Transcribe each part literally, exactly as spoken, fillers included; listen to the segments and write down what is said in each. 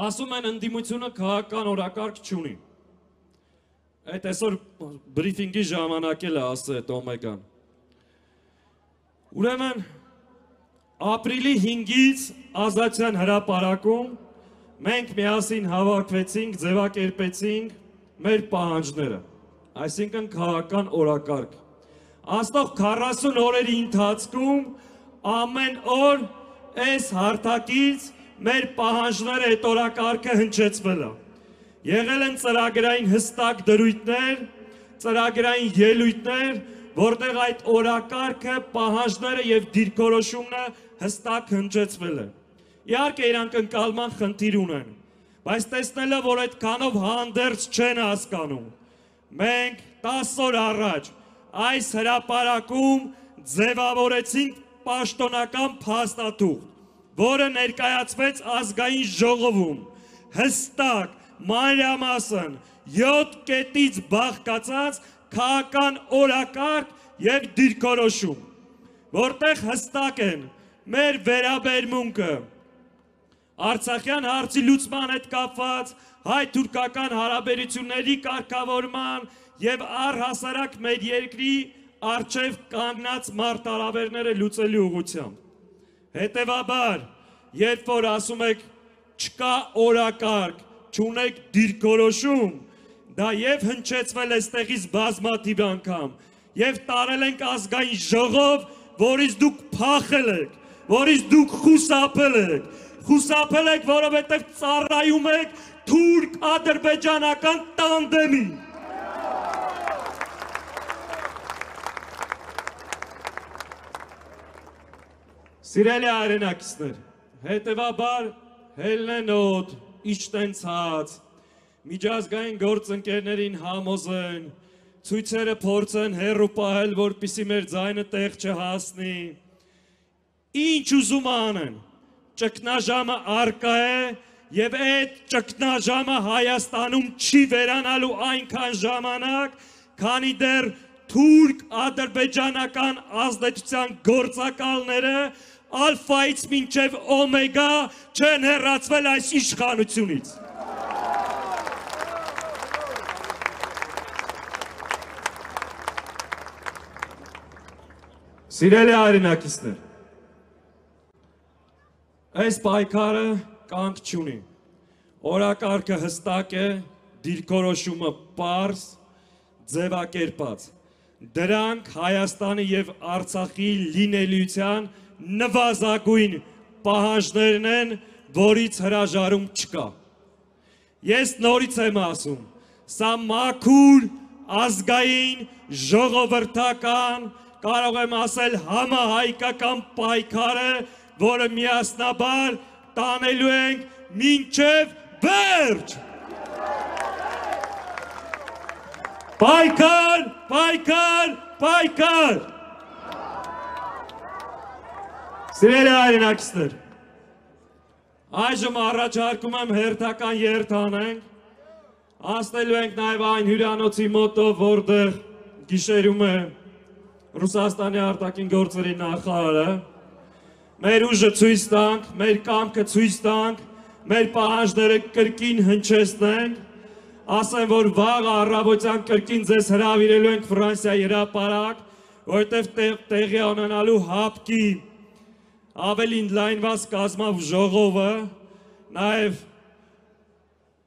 Ասում են ընդդիմությունը քաղաքական օրակարգ չունի։ Այդ այսօր բրիֆինգի ժամանակ էլ է ասել այդ Օմեգան։ Ուրեմն ապրիլի հինգից Ազատության հրապարակում մենք միասին հավաքվեցինք, ձևակերպեցինք մեր պահանջները, այսինքն քաղաքական օրակարգ։ Անցնող քառասուն օրերի ընթացքում ամեն օր այս հարթակից մեր պահանջները այդ օրակարգը հնչեցվել է։ Եղել են ծրագրային հստակ դրույթներ, ծրագրային ելույթներ, որտեղ այդ օրակարգը, պահանջները եւ դիրքորոշումները հստակ հնչեցվել են։ Իհարկե իրանք ընկալման խնդիր ունեն, բայց տեսնելով, որ այդքանով հանդերձ չեն հասկանում, մենք տասը օր առաջ այս հրապարակում ձևավորեցինք պաշտոնական փաստաթուղթ, որը ներկայացվեց ազգային ժողովում, հստակ, մանրամասն, յոթ կետից բաղկացած քաղաքական օրակարգ եւ դիրքորոշում, որտեղ հստակ են մեր վերաբերմունքը Արցախյան հարցի լուծման հետ կապված, հայ-թուրքական հարաբերությունների կարգավորման եւ առհասարակ մեր երկրի առջև կանգնած մարտահրավերները լուծելու ուղղությամբ։ Հետևաբար, երբ որ ասում եք չկա օրակարգ, չունեք դիրքորոշում, դա եւ հնչեցվել է ստեղից բազմաթիվ անգամ, եւ տարել ենք ազգային ժողով, որից դուք փախել եք, որից դուք խուսափել եք, խուսափել եք, որովհետեւ ծառայում եք թուրք-ադրբեջանական տանդեմին։ Սիրելի հայրենակիցներ, հետևաբար հելնեն օդ, իջտեն ցած, միջազգային գործընկերներին համոզեն, ցույցերը փորձեն հեռու պահել, որպեսզի մեր ձայնը տեղ չհասնի։ Ինչ ուզում անեն, ճգնաժամը առկա է եւ այդ ճգնաժամը Հայաստանում չի վերանալու այնքան ժամանակ, քանի դեռ թուրք-ադրբեջանական ազդեցության գործակալները ալֆայից մինչև օմեգա չեն հեռացվել այս իշխանությունից։ Սիրելի հայրենակիցներ, այս պայքարը կանգ չունի, օրակարգը հստակ է, դիրքորոշումը պարզ, ձևակերպած, դրանք Հայաստանի եւ Արցախի լինելիության նվազագույն պահանջներն են, որից հրաժարում չկա։ Ես նորից եմ ասում, սա մաքուր, ազգային, ժողովրդական, կարող եմ ասել համահայկական պայքար է, որը միասնաբար տանելու ենք մինչև վերջ։ Պայքար, պայքար, պայքար։ Սիրելի հայրենակիցներ, այժմ առաջարկում եմ հերթական երթ անենք, անցնելու ենք նաև այն հյուրանոցի մոտով, որտեղ գիշերում է Ռուսաստանի արտաքին գործերի նախարարը, մեր ուժը ցույց տանք, մեր կամքը ցույց տանք, մեր պահանջները կրկին հնչեցնենք, ասեմ, որ վաղ առավոտյան կրկին ձեզ հրավիրելու ենք Ֆրանսիայի հրապարակ, որտեղ տեղի ունենալու հապկի ավելի ընդլայնված կազմով ժողովը, նաև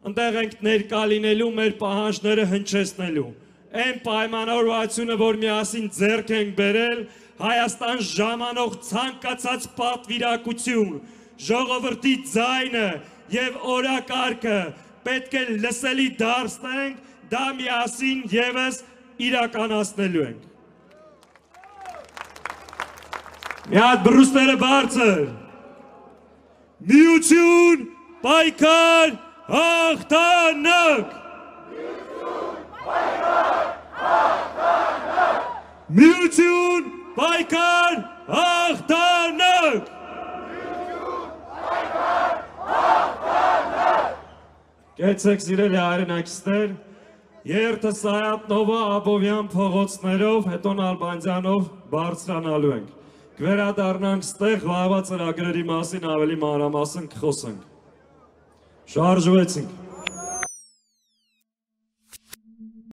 ընդեղ ենք ներկա լինելու մեր պահանջները հնչեցնելու։ Այն պայմանավորվածությունը, որ միասին ձեռք ենք բերել, Հայաստան ժամանող ցանկացած պատվիրակություն, ժողովրդի ձայնը եւ օրակարգը պետք է լսելի դարձնենք, դա միասին եւս իրականացնելու ենք։ Մի հատ բրուստերը բարձր, միություն, պայքար, հաղթանակ։ Միություն, պայքար, հաղթանակ։ Կեցեք սիրելի հայրենակիցներ, երթը Սայաթ Նովա Աբովյան փողոցներով, հետո Նալբանդյանով բարձրանալու ենք։ կվերադառնանք ստեղ վաղվա ծրագրերի մասին ավելի մանրամասն կխոսենք։ Շարժվեցինք։